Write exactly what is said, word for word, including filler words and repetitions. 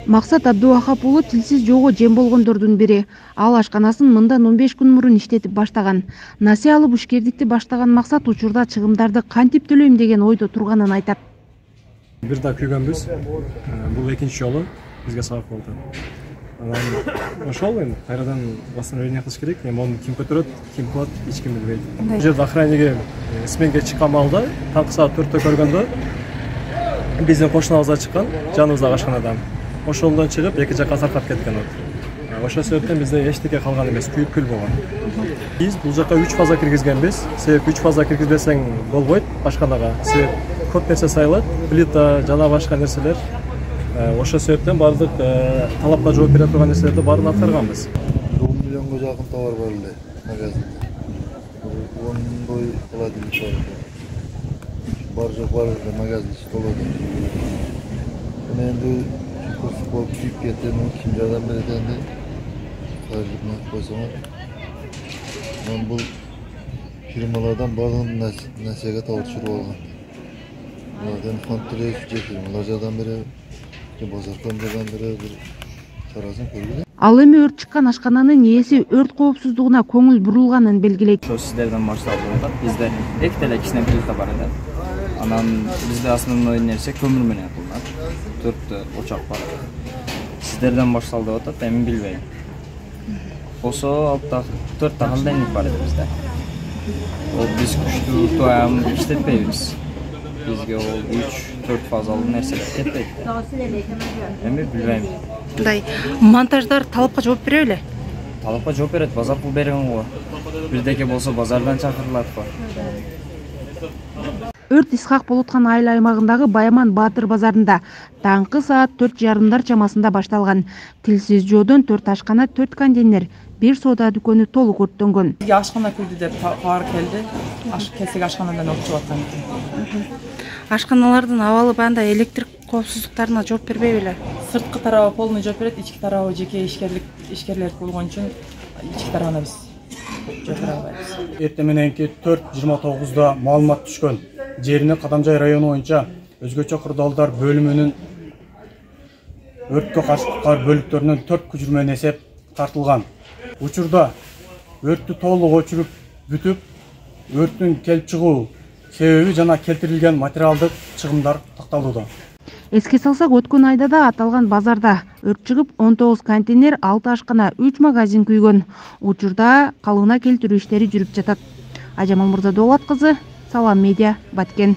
Максат Абдувахап уулу тилсиз жолго жем болгондордун бири. Ал ашканасын мындан он беш күн мурун иштетип баштаган. Насыя алып ишкердикти баштаган Максат учурда чыгымдарды кантип төлөйм деген ойдо турганын айтат. Бир да күйгөнбүз. Бул экинчи жолу бизге сабак болду. Анан ошол эми кайрадан восстановление кылыш керек. Эми аны ким көтөрөт, ким кылат, эч ким билбейт. Бул жерде охранниге сменге чыккан маалда таңкы саат төрттө көргөндө биздин кошунабызга чыккан, жаныбыздагы ашканадан. Ошондон чыгып эки жакка таркап кеткен от. Ошол себептен бизде эчтеке калган эмес, күйүп күл болгон. Биз бул жака үч фаза киргизгенбиз. Себеп үч фаза киргизбесең болбойт ашканага. Себеп көп нерсе сайылат, плита жана башка нерселер. Ошол себептен бардык талапка жооп бере турган нерселерди баарын аткарганбыз. он миллионго жакын товар бар эле магазинде. ондай холодильник бар. Бар жок бар эле магазин ичи толот. Мен энди курс болуп күйүп кетем, ким жардам берет энди? Кайрылып койсоңор. Мен бул фирмалардан бардыгын насияга талтырып алган. Алардан контроль жекелер жардам берет. Базардан жардам берет. Бир чарасын көргүлө. Ал эми өрт чыккан ашкананын ээси өрт коопсуздугуна көңүл бурулганын белгилейт. Ошо сиздерден башталып атат. Бизде эки деле кичине плита бар эле. Анан бизде основной нерсе көмүр менен кылынат. Төрттө очак бар. Сиздерден башталды деп атат, эми билбейм. Болсо алты төрт та холодильник бар эди бизде. Ол биз күчтүү тоям иштетпейбиз. Бизге ол үч төрт фазалуу нерселер кетпейт. Эми билбейм. Мындай монтаждар талапка жооп бере беле? Талапка жооп берет, базар кылып берген го. Бирдеке болсо базардан чакырылат го. Өрт Исхак болуп аткан айыл аймагындагы Баяман Баатыр базарында таңкы саат төрт жарымдар чамасында башталган. Тилсиз жоодон төрт ашкана, төрт контейнер, бир соода дүкөнү толук өрттөнгөн. Бизге ашкана күйдү деп кабар келди. Аш келсек ашканадан окчуп аткан экен. Ашканалардын абалы бандай электр коопсуздуктарына жооп бербей беле? Сырткы тарабы полный жооп берет, ички тарабы жеке ишкерлик ишкерлер болгон үчүн ички тарабына биз жооп бере албайбыз. Эртең мененки төрт жыйырма тогузда маалымат түшкөн. Жерине Кадамжай району боюнча өзгөчө кырдаалдар бөлүмүнүн өрткө каршы куткар бөлүктөрүнөн төрт көчүрмө эсеп тартылган. Учурда өрттү толук өчүрүп бүтүп, өрттүн келип чыгуу себеби жана келтирилген материалдык чыгымдар такталууда. Эске салсак, өткөн айда да аталган базарда өрт чыгып он тогуз контейнер, алты ашкана, үч магазин күйгөн. Учурда калыбына келтирүү иштери жүрүп жатат. Ажамал Мырзадолат кызы, Салам Медиа, Баткен.